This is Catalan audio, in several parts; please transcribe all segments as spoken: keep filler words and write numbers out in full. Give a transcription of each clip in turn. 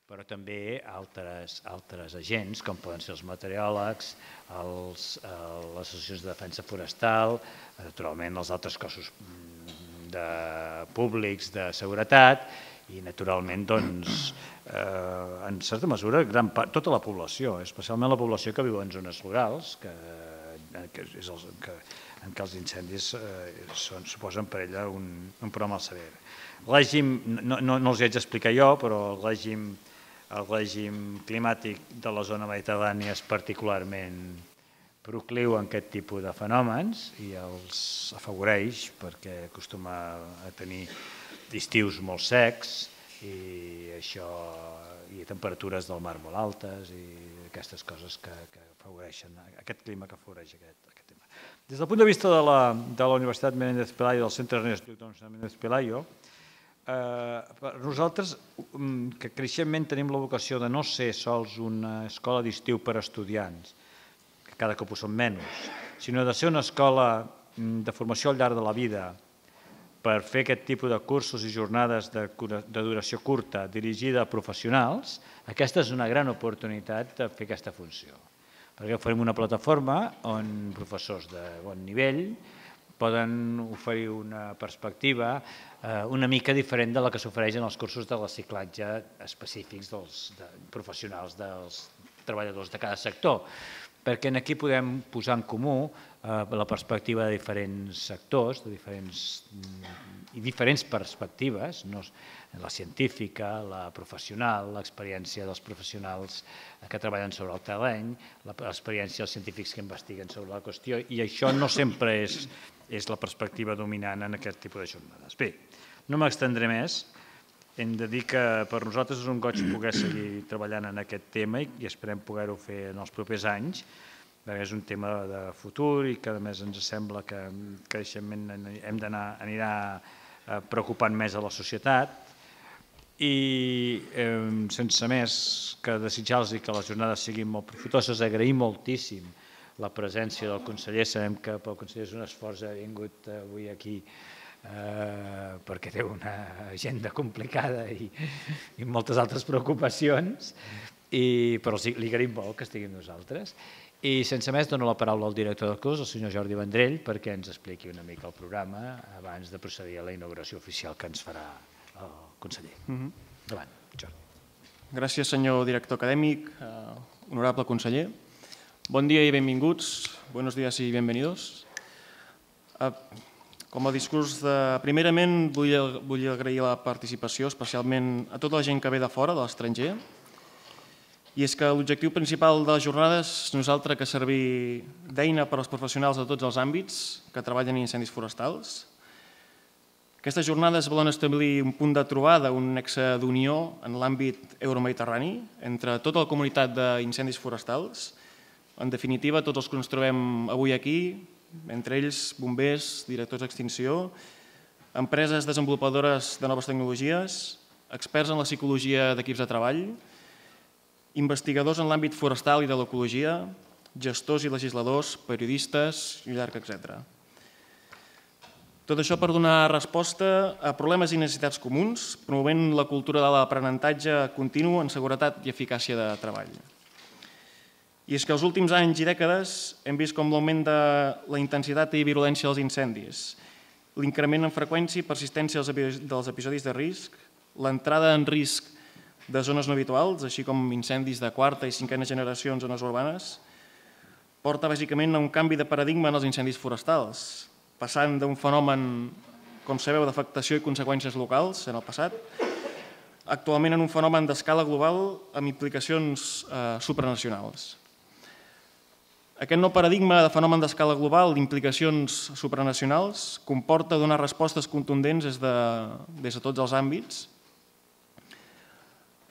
però també altres agents, com poden ser els meteoròlegs, les associacions de defensa forestal, naturalment els altres cossos públics de seguretat i, naturalment, en certa mesura, tota la població, especialment la població que viu en zones rurals, en què els incendis suposen per ella un problema molt sever. El règim, no els hi haig d'explicar jo, però el règim el règim climàtic de la zona mediterrània és particularment procliu a aquest tipus de fenòmens i els afavoreix perquè acostuma a tenir estius molt secs i temperatures del mar molt altes i aquestes coses que afavoreixen, aquest clima que afavoreix aquest tema. Des del punt de vista de la Universitat Menéndez Pelayo, del Centre Ernesto Menéndez Pelayo, nosaltres que creixentment tenim la vocació de no ser sols una escola d'estiu per a estudiants, que cada cop ho són menys, sinó de ser una escola de formació al llarg de la vida per fer aquest tipus de cursos i jornades de duració curta dirigida a professionals, aquesta és una gran oportunitat de fer aquesta funció. Perquè farem una plataforma on professors de bon nivell poden oferir una perspectiva una mica diferent de la que s'ofereix en els cursos de reciclatge específics dels professionals dels treballadors de cada sector, perquè aquí podem posar en comú la perspectiva de diferents sectors i diferents perspectives, la científica, la professional, l'experiència dels professionals que treballen sobre el terreny, l'experiència dels científics que investiguen sobre la qüestió, i això no sempre és la perspectiva dominant en aquest tipus de jornades. Bé, no m'extendré més. Hem de dir que per nosaltres és un goig poder seguir treballant en aquest tema i esperem poder-ho fer en els propers anys, perquè és un tema de futur i que a més ens sembla que creixement hem d'anar anirà preocupant més a la societat i sense més que desitjar-los que les jornades siguin molt profitoses, agrair moltíssim la presència del conseller. Sabem que pel conseller és un esforç, ha vingut avui aquí perquè té una agenda complicada i moltes altres preocupacions, però li agraïm molt que estigui amb nosaltres. I sense més dono la paraula al director del curs, el senyor Jordi Vendrell, perquè ens expliqui una mica el programa abans de procedir a la inauguració oficial que ens farà el conseller. Endavant, Jordi. Gràcies, senyor director acadèmic, honorable conseller. Bon dia i benvinguts, buenos días y bienvenidos. Com a discurs, primerament vull agrair la participació especialment a tota la gent que ve de fora, de l'estranger, i és que l'objectiu principal de les jornades no és altre que servir d'eina per als professionals de tots els àmbits que treballen en incendis forestals. Aquestes jornades volen establir un punt de trobada, un nexe d'unió en l'àmbit euromediterrani entre tota la comunitat d'incendis forestals. En definitiva, tots els que ens trobem avui aquí, entre ells bombers, directors d'extinció, empreses desenvolupadores de noves tecnologies, experts en la psicologia d'equips de treball, investigadors en l'àmbit forestal i de l'ecologia, gestors i legisladors, periodistes i llarg etcètera. Tot això per donar resposta a problemes i necessitats comuns, promovent la cultura de l'aprenentatge continu en seguretat i eficàcia de treball. I és que els últims anys i dècades hem vist com l'augment de la intensitat i virulència dels incendis, l'increment en freqüència i persistència dels episodis de risc, l'entrada en risc de zones no habituals, així com incendis de quarta i cinquena generació en zones urbanes, porta bàsicament a un canvi de paradigma en els incendis forestals, passant d'un fenomen, com sabeu, d'afectació i conseqüències locals en el passat, actualment en un fenomen d'escala global amb implicacions supranacionals. Aquest nou paradigma de fenomen d'escala global d'implicacions supranacionals comporta donar respostes contundents des de tots els àmbits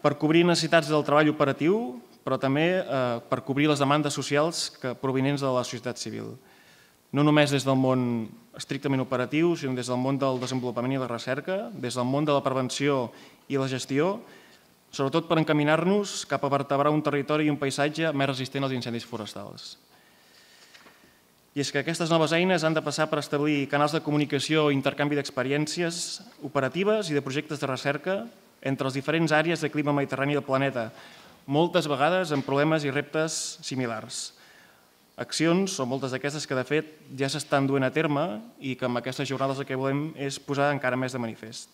per cobrir necessitats del treball operatiu, però també per cobrir les demandes socials provinents de la societat civil. No només des del món estrictament operatiu, sinó des del món del desenvolupament i la recerca, des del món de la prevenció i la gestió, sobretot per encaminar-nos cap a vertebrar un territori i un paisatge més resistent als incendis forestals. I és que aquestes noves eines han de passar per establir canals de comunicació i intercanvi d'experiències operatives i de projectes de recerca entre les diferents àrees de clima mediterrani del planeta, moltes vegades amb problemes i reptes similars. Accions, o moltes d'aquestes que de fet ja s'estan duent a terme i que amb aquestes jornades el que volem és posar encara més de manifest.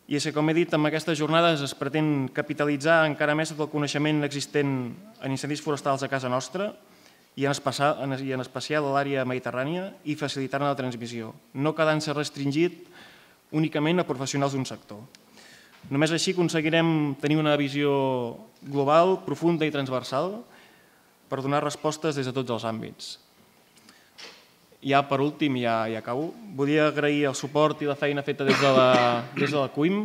I és que, com he dit, amb aquestes jornades es pretén capitalitzar encara més tot el coneixement existent en incendis forestals a casa nostra i en especial a l'àrea mediterrània i facilitar-ne la transmissió, no quedant-se restringit únicament a professionals d'un sector. Només així aconseguirem tenir una visió global, profunda i transversal per donar respostes des de tots els àmbits. Ja per últim, ja, ja acabo, volia agrair el suport i la feina feta des de la, des de la C U I M,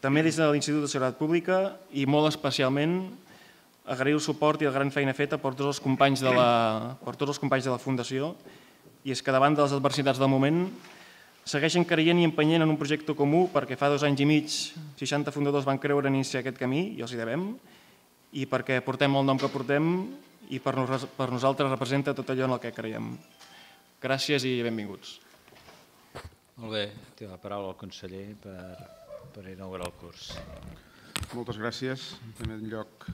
també des de l'Institut de Seguretat Pública i molt especialment agrair el suport i la gran feina feta per tots els companys de la, per tots els companys de la Fundació, i és que davant de les adversitats del moment segueixen creient i empenyent en un projecte comú perquè fa dos anys i mig seixanta fundadors van creure en iniciar aquest camí i els hi devem, i perquè portem el nom que portem i per nosaltres representa tot allò en el que creiem. Gràcies i benvinguts. Molt bé, té la paraula el conseller per inaugurar el curs. Moltes gràcies. En primer lloc,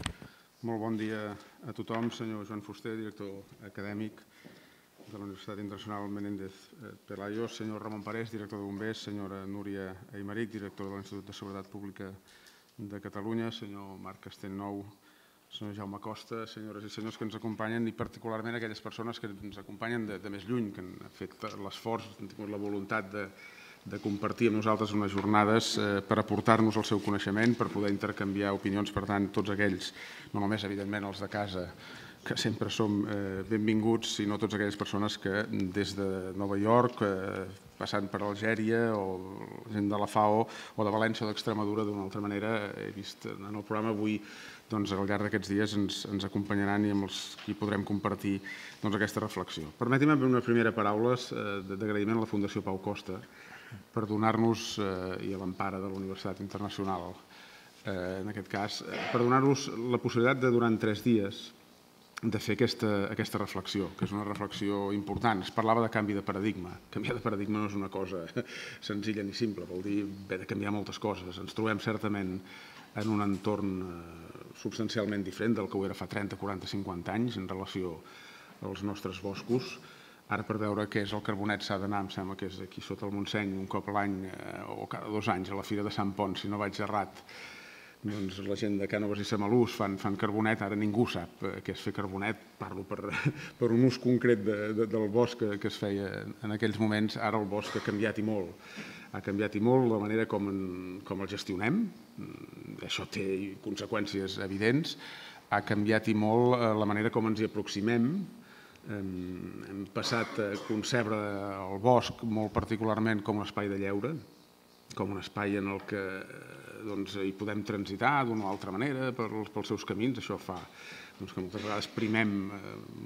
molt bon dia a tothom. Senyor Joan Fuster, director acadèmic de la Universitat Internacional Menéndez Pelayo, senyor Ramon Parés, director de Bombers, senyora Núria Aymeric, director de l'Institut de Seguretat Pública de Catalunya, senyor Marc Castellnou, senyor Jaume Costa, senyores i senyors que ens acompanyen i particularment aquelles persones que ens acompanyen de més lluny, que han fet l'esforç, han tingut la voluntat de compartir amb nosaltres unes jornades per aportar-nos el seu coneixement, per poder intercanviar opinions. Per tant, tots aquells, no només evidentment els de casa, que sempre som benvinguts, sinó totes aquelles persones que des de Nova York, passant per Algèria o gent de la FAO o de València o d'Extremadura, d'una altra manera, he vist en el programa avui, al llarg d'aquests dies ens acompanyaran i amb els qui podrem compartir aquesta reflexió. Permeti'm una primera paraula d'agraïment a la Fundació Pau Costa per donar-nos, i a l'empara de la Universitat Internacional, en aquest cas, per donar-nos la possibilitat de, durant tres dies, de fer aquesta reflexió, que és una reflexió important. Es parlava de canvi de paradigma. Canviar de paradigma no és una cosa senzilla ni simple, vol dir haver de canviar moltes coses. Ens trobem certament en un entorn substancialment diferent del que ho era fa trenta, quaranta, cinquanta anys en relació als nostres boscos. Ara, per veure què és el carbonet, s'ha d'anar, em sembla que és aquí sota el Montseny, un cop a l'any o cada dos anys a la Fira de Sant Pons, si no vaig errat. Doncs la gent de Cànoves i Samalús fan carbonet, ara ningú sap què és fer carbonet, parlo per un ús concret del bosc que es feia en aquells moments. Ara el bosc ha canviat i molt, ha canviat i molt la manera com el gestionem, això té conseqüències evidents, ha canviat i molt la manera com ens hi aproximem. Hem passat a concebre el bosc molt particularment com un espai de lleure, com un espai en el que hi podem transitar d'una o altra manera pels seus camins. Això fa que moltes vegades primem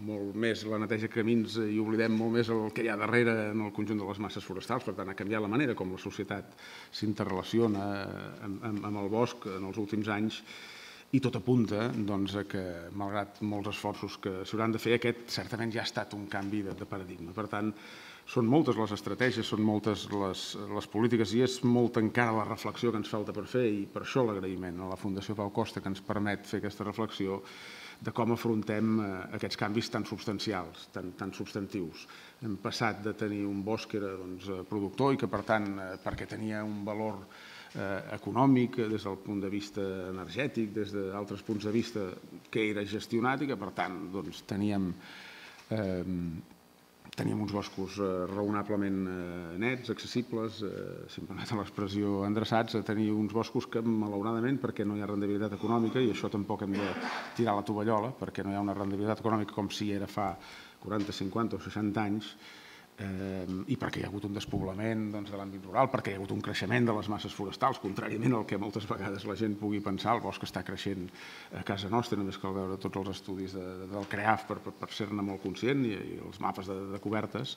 molt més la neteja de camins i oblidem molt més el que hi ha darrere en el conjunt de les masses forestals. Per tant, ha canviat la manera com la societat s'interrelaciona amb el bosc en els últims anys i tot apunta que, malgrat molts esforços que s'hauran de fer, aquest certament ja ha estat un canvi de paradigma. Per tant, són moltes les estratègies, són moltes les polítiques i és molta encara la reflexió que ens falta per fer, i per això l'agraïment a la Fundació Pau Costa que ens permet fer aquesta reflexió de com afrontem aquests canvis tan substancials, tan substantius. Hem passat de tenir un bosc que era productor i que, per tant, perquè tenia un valor econòmic des del punt de vista energètic, des d'altres punts de vista, que era gestionat i que, per tant, teníem Teníem uns boscos raonablement nets, accessibles, si em permeten l'expressió, endreçats, a tenir uns boscos que, malauradament, perquè no hi ha rendibilitat econòmica, i això tampoc hem de tirar la tovallola, perquè no hi ha una rendibilitat econòmica com si era fa quaranta, cinquanta o seixanta anys, i perquè hi ha hagut un despoblament de l'àmbit rural, perquè hi ha hagut un creixement de les masses forestals, contràriament al que moltes vegades la gent pugui pensar. El bosc està creixent a casa nostra, només cal veure tots els estudis del CREAF per ser-ne molt conscient i els mapes de cobertes.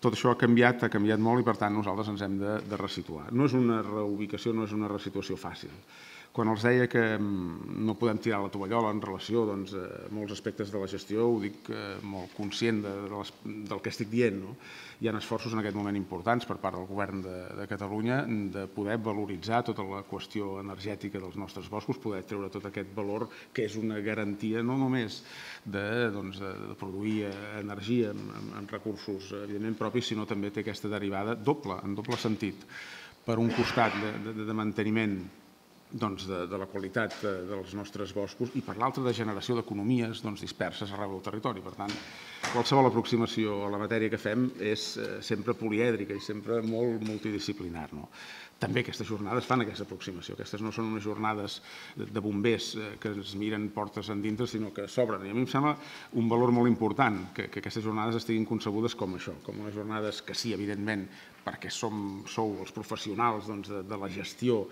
Tot això ha canviat, ha canviat molt, i per tant nosaltres ens hem de resituar. No és una reubicació, no és una resituació fàcil. Quan els deia que no podem tirar la tovallola en relació doncs, a molts aspectes de la gestió, ho dic molt conscient de, de les, del que estic dient. No? Hi ha esforços en aquest moment importants per part del Govern de, de Catalunya de poder valoritzar tota la qüestió energètica dels nostres boscos, poder treure tot aquest valor que és una garantia no només de, doncs, de produir energia amb, amb recursos evidentment propis, sinó també té aquesta derivada doble, en doble sentit. Per un costat de, de, de manteniment doncs, de, de la qualitat de, dels nostres boscos i per l'altra de generació d'economies doncs, disperses arreu del territori. Per tant, qualsevol aproximació a la matèria que fem és eh, sempre polièdrica i sempre molt multidisciplinar. No? També aquestes jornades fan aquesta aproximació. Aquestes no són unes jornades de, de bombers eh, que ens miren portes endintre, sinó que s'obren. I a mi em sembla un valor molt important que, que aquestes jornades estiguin concebudes com això, com unes jornades que sí, evidentment, perquè som, sou els professionals doncs, de, de la gestió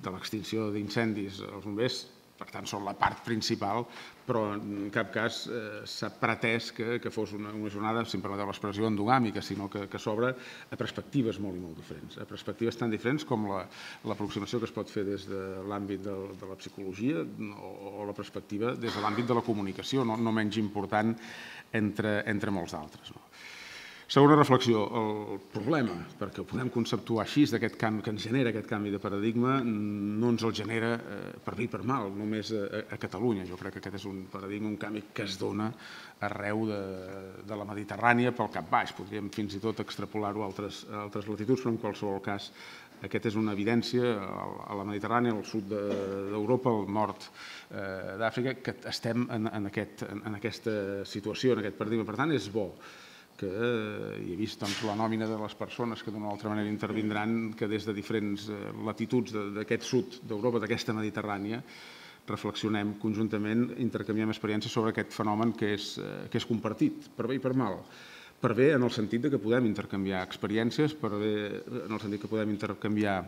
de l'extinció d'incendis, els bombers, per tant, són la part principal, però en cap cas eh, s'ha pretès que, que fos una, una jornada, si em permeteu l'expressió, endogàmica, sinó que, que s'obre a perspectives molt i molt diferents, a perspectives tan diferents com l'aproximació la, que es pot fer des de l'àmbit de, de la psicologia o, o la perspectiva des de l'àmbit de la comunicació, no, no menys important entre, entre molts d'altres. No? Segona reflexió, el problema, perquè ho podem conceptuar així, d'aquest canvi que ens genera aquest canvi de paradigma, no ens el genera per bé i per mal, només a, a Catalunya. Jo crec que aquest és un paradigma, un canvi que es dona arreu de, de la Mediterrània pel cap baix. Podríem fins i tot extrapolar-ho a altres, a altres latituds, però en qualsevol cas aquest és una evidència a la Mediterrània, al sud d'Europa, al nord d'Àfrica, que estem en, en, aquest, en aquesta situació, en aquest paradigma. Per tant, és bo que hi he vist doncs, la nòmina de les persones que d'una o altra manera intervindran, que des de diferents latituds d'aquest sud d'Europa, d'aquesta Mediterrània, reflexionem conjuntament, intercanviem experiències sobre aquest fenomen que és, que és compartit, per bé i per mal. Per bé en el sentit que podem intercanviar experiències, per bé en el sentit que podem intercanviar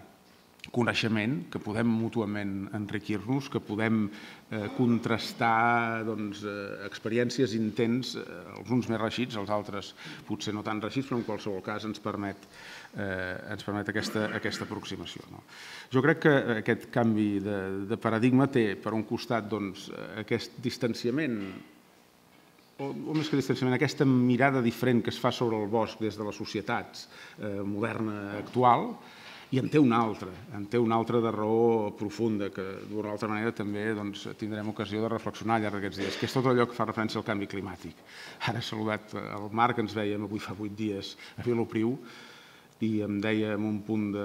coneixement, que podem mútuament enriquir-nos, que podem eh, contrastar doncs, eh, experiències intents, eh, els uns més reixits, els altres potser no tan reixits, però en qualsevol cas ens permet, eh, ens permet aquesta, aquesta aproximació. No? Jo crec que aquest canvi de, de paradigma té, per un costat, doncs, aquest distanciament, o, o més que distanciament, aquesta mirada diferent que es fa sobre el bosc des de les societats eh, moderna actual, i en té una altra, en té una altra de raó profunda, que d'una altra manera també doncs, tindrem ocasió de reflexionar al llarg d'aquests dies, que és tot allò que fa referència al canvi climàtic. Ara he saludat el Marc, que ens veiem avui fa vuit dies a Vilopriu, i em deia amb un punt de,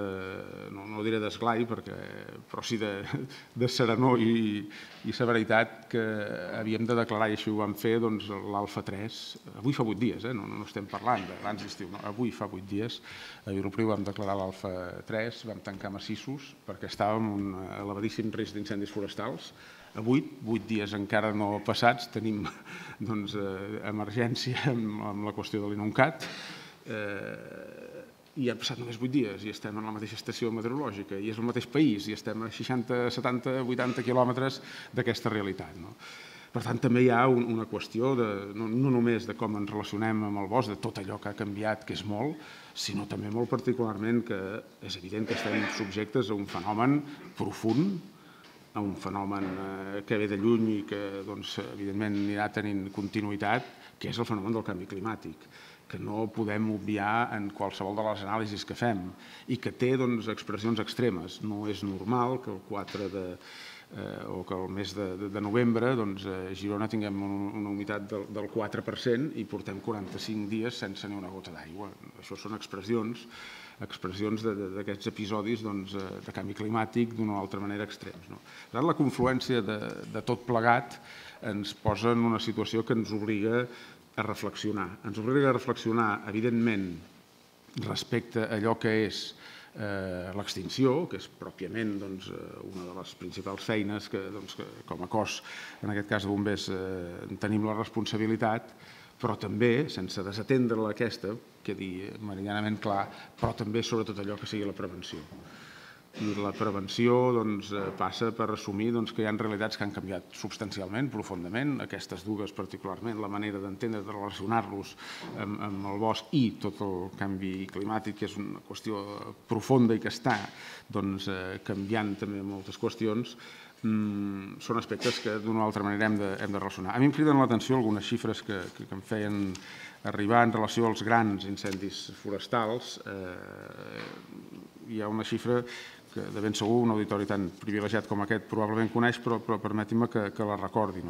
no, no diré d'esglai, perquè, però sí de, de serenor i, i severitat, que havíem de declarar, i així ho vam fer, doncs, l'Alfa tres. Avui fa vuit dies, eh? no, no estem parlant d'abans d'estiu, no? Avui fa vuit dies a Vilopriu vam declarar l'Alfa tres, vam tancar massissos perquè estàvem en un elevadíssim risc d'incendis forestals. Avui, vuit dies encara no passats, tenim doncs, emergència amb, amb la qüestió de l'INUNCAT, eh, i han passat només vuit dies i estem en la mateixa estació meteorològica i és el mateix país i estem a seixanta, setanta, vuitanta quilòmetres d'aquesta realitat. No? Per tant, també hi ha un, una qüestió de, no, no només de com ens relacionem amb el bosc, de tot allò que ha canviat, que és molt, sinó també molt particularment que és evident que estem subjectes a un fenomen profund, a un fenomen que ve de lluny i que, doncs, evidentment, anirà tenint continuïtat, que és el fenomen del canvi climàtic, que no podem obviar en qualsevol de les anàlisis que fem i que té doncs, expressions extremes. No és normal que el quatre de, eh, o que el mes de, de, de novembre doncs, a Girona tinguem un, una humitat del, del quatre per cent i portem quaranta-cinc dies sense ni una gota d'aigua. Això són expressions expressions d'aquests episodis doncs, de canvi climàtic d'una o altra manera extrems. No? La confluència de, de tot plegat ens posa en una situació que ens obliga a reflexionar. Ens obliga a reflexionar, evidentment, respecte a allò que és eh, l'extinció, que és pròpiament doncs, una de les principals feines que, doncs, que com a cos, en aquest cas de bombers, eh, tenim la responsabilitat, però també, sense desatendre aquesta, quedi meridianament clar, però també sobretot allò que sigui la prevenció. i la prevenció passa per assumir que hi ha realitats que han canviat substancialment, profundament, aquestes dues particularment, la manera d'entendre, de relacionar-los amb el bosc i tot el canvi climàtic, que és una qüestió profunda i que està canviant també moltes qüestions, són aspectes que d'una o altra manera hem de relacionar. A mi em criden l'atenció algunes xifres que em feien arribar en relació als grans incendis forestals. Hi ha una xifra que de ben segur un auditori tan privilegiat com aquest probablement coneix, però permetin-me que la recordi.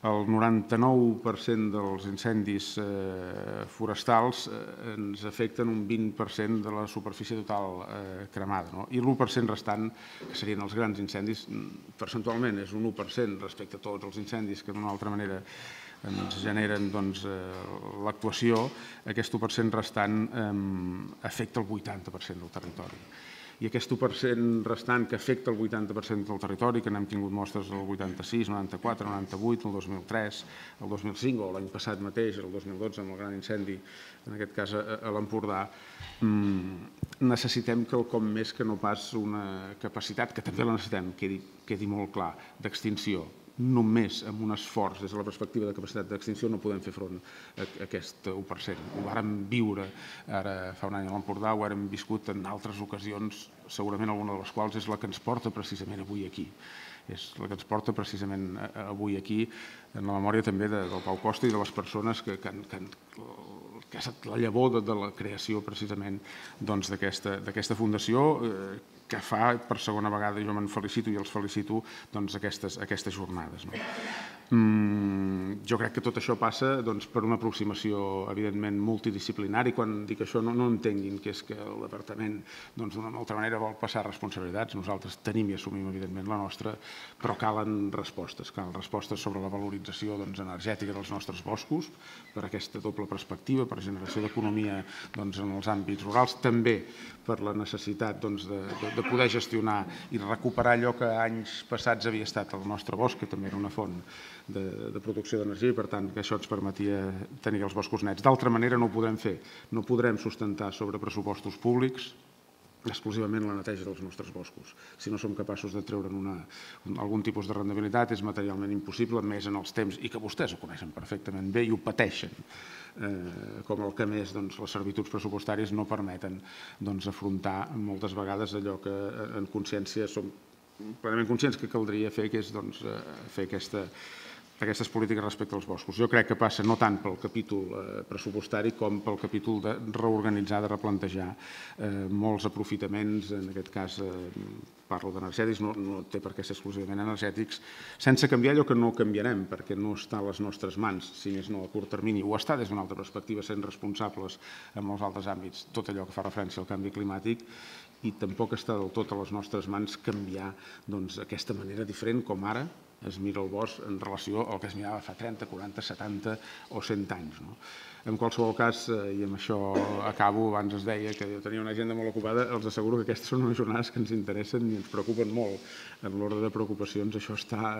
El noranta-nou per cent dels incendis forestals ens afecten un vint per cent de la superfície total cremada, i l'u per cent restant, que serien els grans incendis, percentualment és un u per cent respecte a tots els incendis que d'una altra manera ens generen l'actuació. Aquest u per cent restant afecta el vuitanta per cent del territori. I aquest u per cent restant que afecta el vuitanta per cent del territori, que n'hem tingut mostres el vuitanta-sis, noranta-quatre, noranta-vuit, el dos mil tres, el dos mil cinc o l'any passat mateix, el dos mil dotze, amb el gran incendi, en aquest cas a l'Empordà, necessitem quelcom més que no pas una capacitat, que també la necessitem, quedi molt clar, d'extinció. Només amb un esforç des de la perspectiva de capacitat d'extinció no podem fer front a aquest u per cent. Ho vàrem viure ara fa un any a l'Empordà, ho hem viscut en altres ocasions, segurament alguna de les quals és la que ens porta precisament avui aquí. És la que ens porta precisament avui aquí, en la memòria també del Pau Costa i de les persones que han que ha estat la llavor de la creació precisament d'aquesta fundació, que fa per segona vegada, jo me'n felicito i els felicito, aquestes jornades. Jo crec que tot això passa per una aproximació evidentment multidisciplinària. Quan dic això no entenguin que és que el departament d'una altra manera vol passar responsabilitats. Nosaltres tenim i assumim evidentment la nostra, però calen respostes. Calen respostes sobre la valorització energètica dels nostres boscos, per aquesta doble perspectiva, per generació d'economia en els àmbits rurals, també per la necessitat de poder gestionar i recuperar allò que anys passats havia estat el nostre bosc, que també era una font de producció d'energia i, per tant, que això ens permetia tenir els boscos nets. D'altra manera no ho podem fer. No podrem sustentar sobre pressupostos públics exclusivament la neteja dels nostres boscos. Si no som capaços de treure'n algun tipus de rendibilitat, és materialment impossible, més en els temps, i que vostès ho coneixen perfectament bé i ho pateixen, com el que més les servituds pressupostàries no permeten afrontar moltes vegades allò que en consciència som plenament conscients que caldria fer, que és fer aquestes polítiques respecte als boscos. Jo crec que passa no tant pel capítol pressupostari com pel capítol de reorganitzar, de replantejar molts aprofitaments, en aquest cas parlo d'energètics, no té per què ser exclusivament energètics, sense canviar allò que no canviarem, perquè no està a les nostres mans, si més no a curt termini, o està des d'una altra perspectiva sent responsables en molts altres àmbits, tot allò que fa referència al canvi climàtic, i tampoc està del tot a les nostres mans canviar aquesta manera diferent com ara es mira el bosc en relació al que es mirava fa trenta, quaranta, setanta o cent anys. En qualsevol cas, i amb això acabo, abans es deia que jo tenia una agenda molt ocupada, els asseguro que aquestes són unes jornades que ens interessen i ens preocupen molt. En l'ordre de preocupacions això està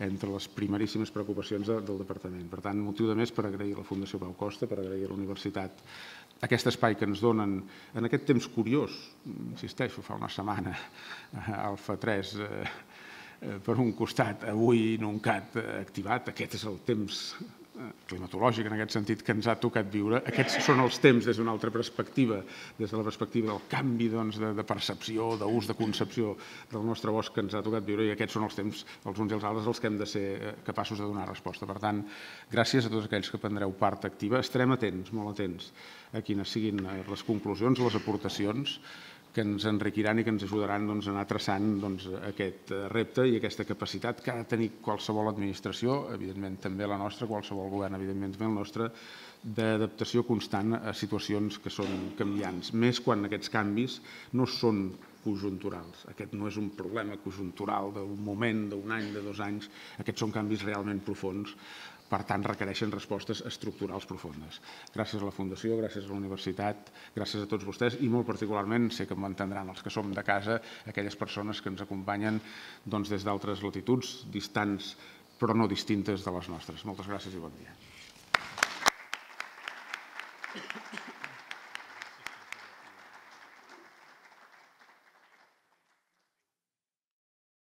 entre les primeríssimes preocupacions del departament. Per tant, motiu de més per agrair a la Fundació Pau Costa, per agrair a la universitat aquest espai que ens donen en aquest temps curiós, insisteixo, fa una setmana, al F tres, per un costat, avui Nuncat activat, aquest és el temps climatològic en aquest sentit que ens ha tocat viure. Aquests són els temps des d'una altra perspectiva, des de la perspectiva del canvi de percepció, d'ús, de concepció del nostre bosc que ens ha tocat viure, i aquests són els temps, els uns i els altres, els que hem de ser capaços de donar resposta. Per tant, gràcies a tots aquells que prendreu part activa. Estarem atents, molt atents, a quines siguin les conclusions, les aportacions que ens enriquiran i que ens ajudaran a anar traçant aquest repte i aquesta capacitat que ha de tenir qualsevol administració, evidentment també la nostra, qualsevol govern, evidentment també el nostre, d'adaptació constant a situacions que són canviants, més quan aquests canvis no són conjunturals. Aquest no és un problema conjuntural d'un moment, d'un any, de dos anys, aquests són canvis realment profunds, per tant requereixen respostes estructurals profundes. Gràcies a la Fundació, gràcies a la Universitat, gràcies a tots vostès i molt particularment, sé que m'entendran els que som de casa, aquelles persones que ens acompanyen des d'altres latituds, distants però no distintes de les nostres. Moltes gràcies i bon dia.